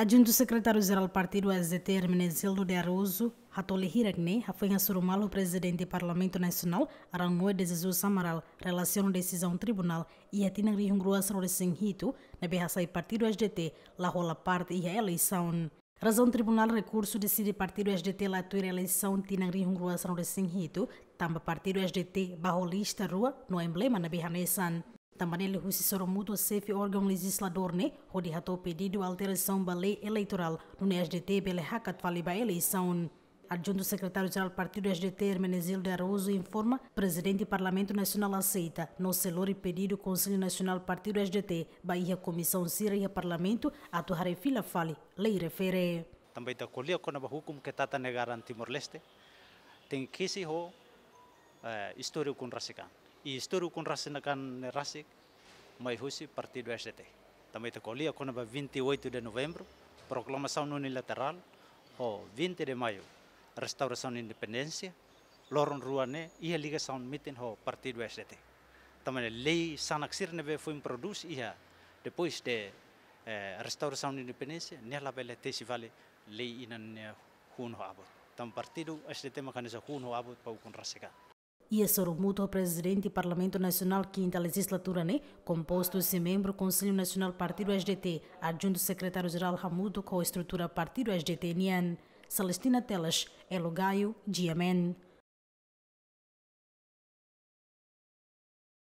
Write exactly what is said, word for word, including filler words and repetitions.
Adjuntu Sekretáriu Jerál Partidu S D T, Hermenegildo de Araújo, hato'o lia hirak ne'e hafoin hasoru malu Prezidente Parlamentu Nasionál, Rangoi de Jesus Amaral, relasiona desizaun tribunál iha tinan rihun rua sanulu resin hitu, ne'ebé hasai Partidu S D T la hola parte iha eleisaun. Razaun tribunál rekursu deside Partidu S D T la tuir eleisaun tinan rihun rua sanulu resin hitu, tanba Partidu S D T ba ho lista rua no emblema ne'ebé hanesan. Tanba ne'e liuhusi soru mútuo xefe órgaun lejizladór ne'e hodi hato'o pedidu alterasaun ba lei eleitorál, nune'e S D T bele hakat fali ba eleisaun. Adjuntu Sekretáriu Jerál Partidu S D T, Hermenegildo de Araújo, informa Prezidente Parlamentu Nasionál aseita no sei lori pedidu Konsellu Nasionál Partidu S D T ba iha komisaun sira iha Parlamentu atu haree fila fali lei refere. Tanba ita ko'alia kona-ba hukum ketatanegaraan Timor-Leste, tenke kesi ho, eh, istória ukun rasik an. I istória ukun rasik an ne'e rasik mai husi Partidu S D T. Tanba ita ko'alia kona-ba vinte e oito de Novembro, proklamasaun unilaterál, ho vinte de Maio, restaurasaun independénsia, loron rua ne'e iha ligasaun metin ho Partidu S D T. Tanba ne'e lei sanak sira ne'ebé foin prodús iha depois de, eh, restaurasaun independénsia, nia labele tesi fali lei ida-ne'e hun ho abut. Tanba Partidu S D T maka hanesan hun ho abut ba ukun rasik an. Iha soru mútuo Prezidente Parlamentu Nasionál kinta lejizlatura ne'e, kompostu husi membru Konsellu Nasionál Partidu S D T, Adjuntu Sekretáriu Jerál hamutuk ho estrutura Partidu S D T nian. Celestina Teles, Elo Gaio, G M N.